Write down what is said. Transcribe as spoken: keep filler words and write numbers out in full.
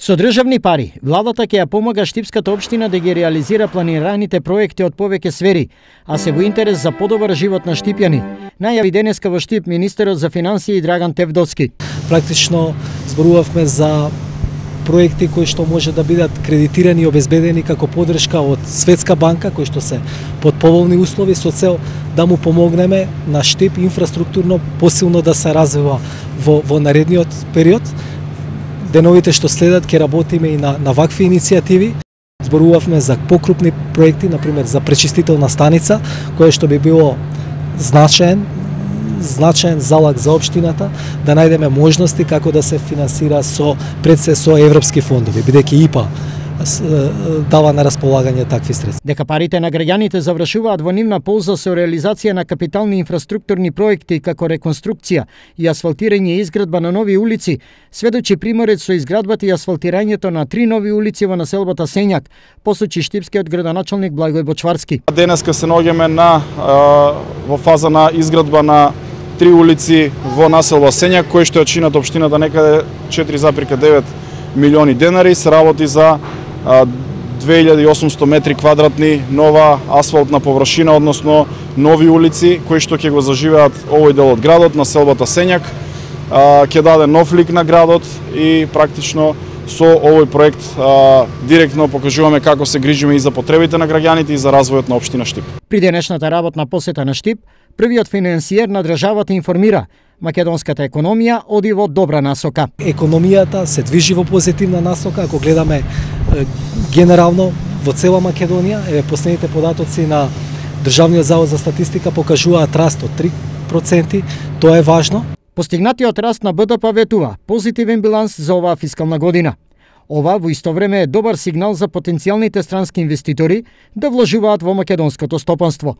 Со државни пари, владата ќе ја помага Штипската општина да ги реализира планираните проекти од повеќе сфери, а се во интерес за подобар живот на штипјани. Најави денеска во Штип министерот за финансии Драган Тевдовски. Практично зборувавме за проекти кои што може да бидат кредитирани и обезбедени како подршка од Светска банка, кои што се под поволни услови со цел да му помогнеме на Штип инфраструктурно посилно да се развива во, во наредниот период. Деновите што следат ќе работиме и на, на вакви иницијативи. Зборувавме за покрупни проекти, например за пречистителна станица, која што би било значаен, значаен залог за општината, да најдеме можности како да се финансира со пред се со европски фондови, бидејќи И П А дава на располагање такви средства. Дека парите на граѓаните завршуваат во нивна полза со реализација на капитални инфраструктурни проекти како реконструкција и асфалтирање и изградба на нови улици, сведочи примерот со изградбата и асфалтирањето на три нови улици во населбата Сењак, посочи штипскиот градоначалник Благој Бочварски. Денеска се наоѓаме на во фаза на изградба на три улици во населба Сењак, кои што ја чинат општината некаде четири зарез девет милиони денари, се работи за две илјади и осумсто метри квадратни нова асфалтна површина, односно нови улици кои што ќе го заживеат овој дел од градот, населбата Сењак, ќе даде нов лик на градот и практично со овој проект а, директно покажуваме како се грижиме и за потребите на граѓаните и за развојот на општина Штип. При денешната работна посета на Штип, првиот финансиер на државата информира: македонската економија оди во добра насока. Економијата се движи во позитивна насока, ако гледаме е, генерално во цела Македонија. Еве последните податоци на Државниот завод за статистика покажуваат раст од три проценти, тоа е важно. Постигнатиот раст на Б Д П ветува позитивен биланс за оваа фискална година. Ова во исто време е добар сигнал за потенцијалните странски инвеститори да вложуваат во македонското стопанство.